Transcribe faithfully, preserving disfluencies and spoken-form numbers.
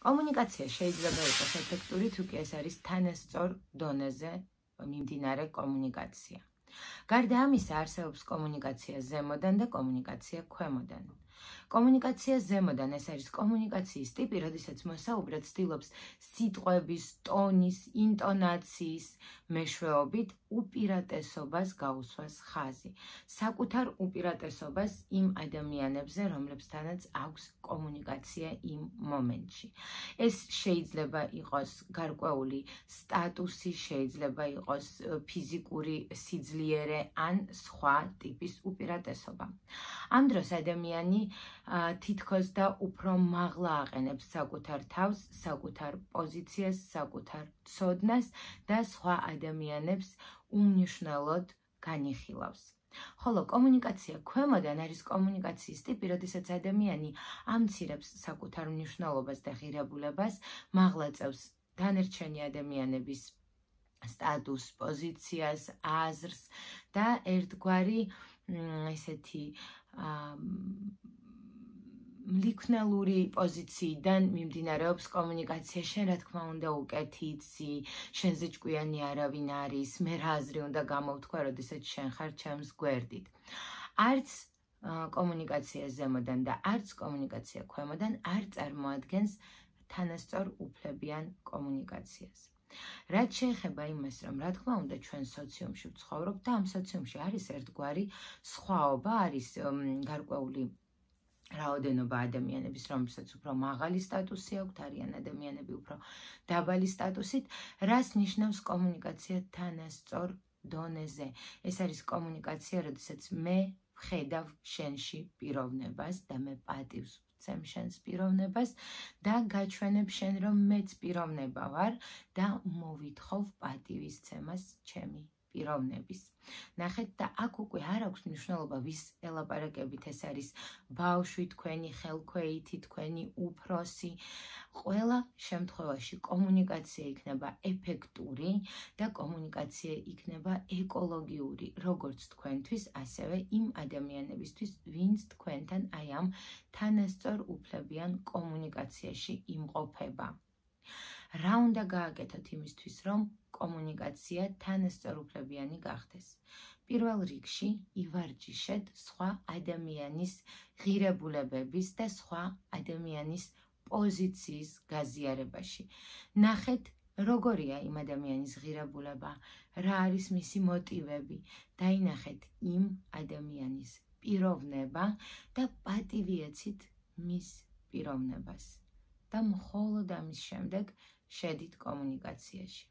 კომუნიკაცია შეიძლება იყოს ეფექტური, თუკი ეს არის თანასწორ დონეზე მიმდინარე კომუნიკაცია. გარდა ამისა, არსებობს კომუნიკაცია ზემოდან და კომუნიკაცია ქვემოდან. კომუნიკაცია ზემოდან ეს არის კომუნიკაციის ტიპი, როდესაც მოსაუბრე ცდილობს სიტყვების, ტონის, ინტონაციის მეშვეობით უპირატესობას გაუსვას ხაზი. საკუთარ უპირატესობას იმ ადამიანებზე, რომლებთანაც აქვს კომუნიკაცია იმ მომენტში. ეს შეიძლება იყოს გარკვეული სტატუსი, შეიძლება იყოს ფიზიკური სიძლიერე ან სხვა ტიპის უპირატესობა. ამ დროს ადამიანი თითქოს და უფრო მაღლა აყენებს საკუთარ თავს, საკუთარ პოზიციას, საკუთარ ცოდნას და სხვა ადამიანებს უმნიშვნელოდ განიხილავს. ხოლო კომუნიკაცია ქვემოდან არის კომუნიკაციის ტიპი, როდესაც ადამიანი ამცირებს საკუთარ მნიშვნელობას და ღირებულებას, მაღლა წევს დანარჩენი ადამიანების სტატუს, პოზიციას, აზრს და ერთგვარი ესეთი ლიქნალური პოზიციიდან მიმდინარეობს კომუნიკაცია. შენ რა თქმა უნდა უკეთი იცი, შენზე ჭკვიანი არავინ არის, მე რა აზრი უნდა გამოვთქვა, როდესაც შენ ხარ ჩემს გვერდით. არც კომუნიკაცია ზემოდან და არც კომუნიკაცია ქვემოდან არ წარმოადგენს თანასწორ უფლებიან კომუნიკაციას. რაც შეეხება იმას, რომ რა თქმა უნდა ჩვენ სოციუმში ვცხოვრობთ და ამ სოციუმში არის ერთგვარი სხვაობა, არის გარკვეული რაოდენობა ადამიანების, რომელსაც უფრო მაღალი სტატუსი აქვთ, არიან ადამიანები უფრო დაბალი სტატუსით, რას ნიშნავს კომუნიკაცია თანასწორ დონეზე. ეს არის კომუნიკაცია, როდესაც მე ვხედავ შენში პიროვნებას და მე პატივს ვცემ შენს პიროვნებას და გაჩვენებ შენ, რომ მეც პიროვნება ვარ და მოვითხოვ პატივისცემას ჩემი პიროვნების. ნახეთ და აქ უკვე არ აქვს მნიშვნელობა ვის ელაპარაკებით, ეს არის ბავშვი, თქვენი ხელქვეითი, თქვენი უფროსი. ყველა შემთხვევაში კომუნიკაცია იქნება ეფექტური და კომუნიკაცია იქნება ეკოლოგიური, როგორც თქვენთვის, ასევე იმ ადამიანებისთვის, ვინც თქვენთან აი ამ თანასწორ უფლებიან კომუნიკაციაში იმყოფება. რა უნდა გააკეთოთ იმისთვის, რომ კომუნიკაცია თანასწორუფლებიანი გახდეს? პირველ რიგში ივარჯიშეთ სხვა ადამიანის ღირებულებების და სხვა ადამიანის პოზიციის გაზიარებაში. ნახეთ, როგორია იმ ადამიანის ღირებულება, რა არის მისი მოტივები, დაინახეთ იმ ადამიანის პიროვნება და პატივიეცით მის პიროვნებას და მხოლოდ ამის შემდეგ შედით კომუნიკაციაში.